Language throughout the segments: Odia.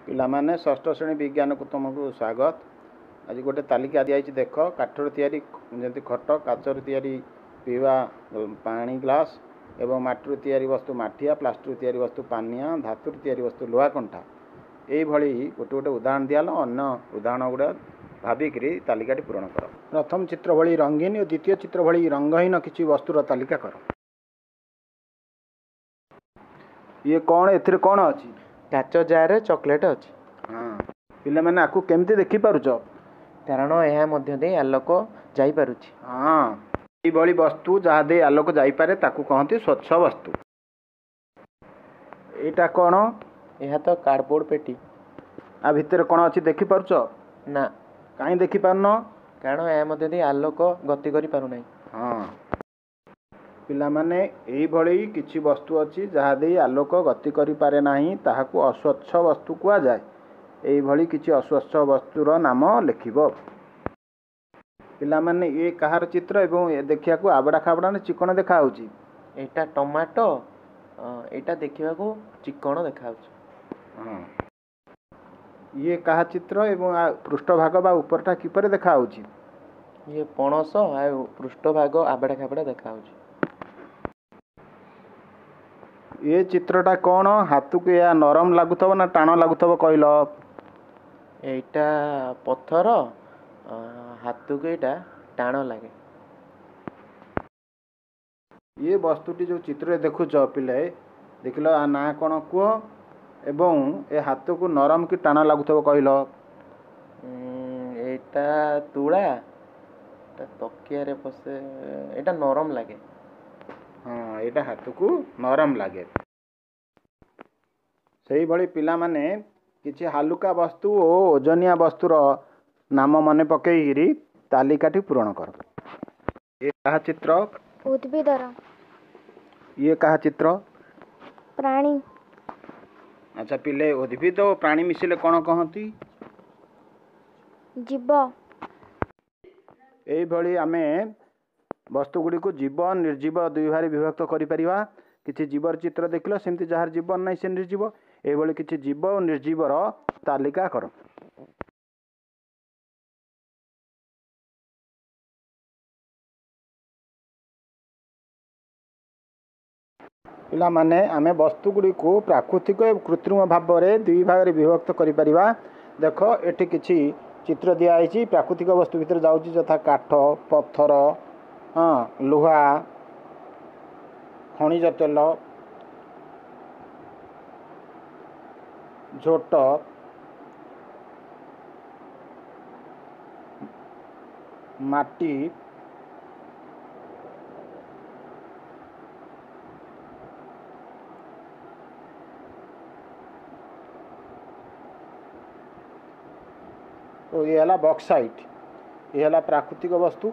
ପିଲାମାନେ, ଷଷ୍ଠ ଶ୍ରେଣୀ ବିଜ୍ଞାନକୁ ତୁମକୁ ସ୍ୱାଗତ। ଆଜି ଗୋଟେ ତାଲିକା ଦିଆଯାଇଛି, ଦେଖ। କାଠରୁ ତିଆରି ଯେମିତି ଖଟ, କାଚରୁ ତିଆରି ପିଇବା ପାଣି ଗ୍ଲାସ୍ ଏବଂ ମାଟିରୁ ତିଆରି ବସ୍ତୁ ମାଠିଆ, ପ୍ଲାଷ୍ଟିକରୁ ତିଆରି ବସ୍ତୁ ପାନିଆ, ଧାତୁରୁ ତିଆରି ବସ୍ତୁ ଲୁହା କଣ୍ଟା। ଏଇଭଳି ଗୋଟେ ଗୋଟେ ଉଦାହରଣ ଦିଆହେଲା। ଅନ୍ୟ ଉଦାହରଣ ଗୁଡ଼ା ଭାବିକିରି ତାଲିକାଟି ପୂରଣ କର। ପ୍ରଥମ ଚିତ୍ର ଭଳି ରଙ୍ଗୀନ ଓ ଦ୍ୱିତୀୟ ଚିତ୍ର ଭଳି ରଙ୍ଗହୀନ କିଛି ବସ୍ତୁର ତାଲିକା କର। ଇଏ କ'ଣ? ଏଥିରେ କ'ଣ ଅଛି? କାଚ ଜାରରେ ଚକୋଲେଟ୍ ଅଛି। ହଁ ପିଲାମାନେ, ଆକୁ କେମିତି ଦେଖିପାରୁଛ? କାରଣ ଏହା ମଧ୍ୟ ଦେଇ ଆଲୋକ ଯାଇପାରୁଛି। ହଁ, ଏଇଭଳି ବସ୍ତୁ ଯାହା ଦେଇ ଆଲୋକ ଯାଇପାରେ ତାକୁ କହନ୍ତି ସ୍ୱଚ୍ଛ ବସ୍ତୁ। ଏଇଟା କ'ଣ? ଏହା ତ କାର୍ଡ଼ବୋର୍ଡ଼ ପେଟି। ଆ ଭିତରେ କ'ଣ ଅଛି ଦେଖିପାରୁଛ? ନା। କାହିଁ ଦେଖିପାରୁନ? କାରଣ ଏହା ମଧ୍ୟ ଦେଇ ଆଲୋକ ଗତି କରିପାରୁନାହିଁ। ହଁ ପିଲାମାନେ, ଏଇଭଳି କିଛି ବସ୍ତୁ ଅଛି ଯାହା ଦେଇ ଆଲୋକ ଗତି କରିପାରେ ନାହିଁ, ତାହାକୁ ଅସ୍ୱଚ୍ଛ ବସ୍ତୁ କୁହାଯାଏ। ଏଇଭଳି କିଛି ଅସ୍ୱଚ୍ଛ ବସ୍ତୁର ନାମ ଲେଖିବ। ପିଲାମାନେ, ଇଏ କାହାର ଚିତ୍ର ଏବଂ ଏ ଦେଖିବାକୁ ଆବଡ଼ା ଖାବଡ଼ା ନା ଚିକଣ ଦେଖାହେଉଛି? ଏଇଟା ଟମାଟୋ। ଏଇଟା ଦେଖିବାକୁ ଚିକଣ ଦେଖାଯାଉଛି। ହଁ, ଇଏ କାହା ଚିତ୍ର ଏବଂ ପୃଷ୍ଠଭାଗ ବା ଉପରଟା କିପରି ଦେଖାହେଉଛି? ଇଏ ପଣସ, ଆଉ ପୃଷ୍ଠଭାଗ ଆବଡ଼ା ଖାବଡ଼ା ଦେଖାଯାଉଛି। ଏ ଚିତ୍ରଟା କ'ଣ? ହାତକୁ ଏହା ନରମ ଲାଗୁଥିବ ନା ଟାଣ ଲାଗୁଥିବ କହିଲ? ଏଇଟା ପଥର, ହାତକୁ ଏଇଟା ଟାଣ ଲାଗେ। ଇଏ ବସ୍ତୁଟି ଯେଉଁ ଚିତ୍ରରେ ଦେଖୁଛ ପିଲେ, ଦେଖିଲ, ଆ ନାଁ କ'ଣ କୁହ ଏବଂ ଏ ହାତକୁ ନରମ କି ଟାଣ ଲାଗୁଥିବ କହିଲ? ଏଇଟା ତୁଳା, ଏଇଟା ତକିଆରେ ବସେ, ଏଇଟା ନରମ ଲାଗେ। ହଁ, ଏଇଟା ହାତକୁ ନରମ ଲାଗେ। ସେଇଭଳି ପିଲାମାନେ, କିଛି ହାଲୁକା ବସ୍ତୁ ଓ ଓଜନିଆ ବସ୍ତୁର ନାମ ମନେ ପକେଇକିରି ତାଲିକାଟି ପୂରଣ କର। ଇଏ କାହା ଚିତ୍ର? ଉଦ୍ଭିଦର। ଇଏ କାହା ଚିତ୍ର? ପ୍ରାଣୀ। ଆଚ୍ଛା ପିଲେ, ଉଦ୍ଭିଦ ଓ ପ୍ରାଣୀ ମିଶିଲେ କ'ଣ କହନ୍ତି? ଜୀବ। ଏଇଭଳି ଆମେ ବସ୍ତୁ ଗୁଡ଼ିକୁ ଜୀବ, ନିର୍ଜୀବ ଦୁଇ ଭାଗରେ ବିଭକ୍ତ କରିପାରିବା। କିଛି ଜୀବର ଚିତ୍ର ଦେଖିଲ, ସେମିତି ଯାହାର ଜୀବନ ନାହିଁ ସେ ନିର୍ଜୀବ। ଏଇଭଳି କିଛି ଜୀବ ଓ ନିର୍ଜୀବର ତାଲିକା କର। ପିଲାମାନେ, ଆମେ ବସ୍ତୁ ଗୁଡ଼ିକୁ ପ୍ରାକୃତିକ ଏବଂ କୃତ୍ରିମ ଭାବରେ ଦୁଇ ଭାଗରେ ବିଭକ୍ତ କରିପାରିବା। ଦେଖ, ଏଠି କିଛି ଚିତ୍ର ଦିଆହେଇଛି। ପ୍ରାକୃତିକ ବସ୍ତୁ ଭିତରେ ଯାଉଛି ଯଥା କାଠ, ପଥର, ହଁ, ଲୁହା, ଖଣିଜ ତେଲ, ଝୋଟ, ମାଟି, ଓ ଇଏ ହେଲା ବକ୍ସାଇଟ୍। ଇଏ ହେଲା ପ୍ରାକୃତିକ ବସ୍ତୁ।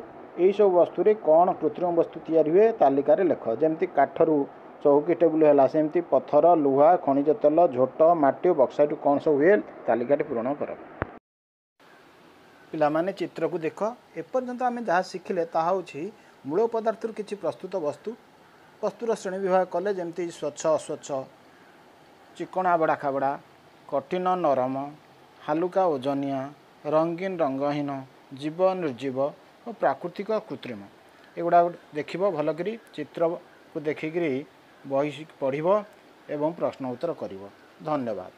ଏଇସବୁ ବସ୍ତୁରେ କ'ଣ କୃତ୍ରିମ ବସ୍ତୁ ତିଆରି ହୁଏ ତାଲିକାରେ ଲେଖ। ଯେମିତି କାଠରୁ ଚୌକି, ଟେବୁଲ ହେଲା, ସେମିତି ପଥର, ଲୁହା, ଖଣିଜ ତେଲ, ଝୋଟ, ମାଟି ଓ ବକ୍ସାଇଟ୍ କ'ଣ ସବୁ ହୁଏ ତାଲିକାଟି ପୂରଣ କର। ପିଲାମାନେ, ଚିତ୍ରକୁ ଦେଖ। ଏପର୍ଯ୍ୟନ୍ତ ଆମେ ଯାହା ଶିଖିଲେ ତାହା ହେଉଛି ମୂଳ ପଦାର୍ଥରୁ କିଛି ପ୍ରସ୍ତୁତ ବସ୍ତୁ। ବସ୍ତୁର ଶ୍ରେଣୀ ବିଭାଗ କଲେ, ଯେମିତି ସ୍ୱଚ୍ଛ, ଅସ୍ୱଚ୍ଛ, ଚିକଣ, ଆବଡ଼ା ଖାବଡ଼ା, କଠିନ, ନରମ, ହାଲୁକା, ଓଜନିଆ, ରଙ୍ଗୀନ, ରଙ୍ଗହୀନ, ଜୀବ, ନିର୍ଜୀବ ଓ ପ୍ରାକୃତିକ, କୃତ୍ରିମ। ଏଗୁଡ଼ା ଦେଖିବ ଭଲକରି, ଚିତ୍ରକୁ ଦେଖିକିରି ବହି ପଢ଼ିବ ଏବଂ ପ୍ରଶ୍ନ ଉତ୍ତର କରିବ। ଧନ୍ୟବାଦ।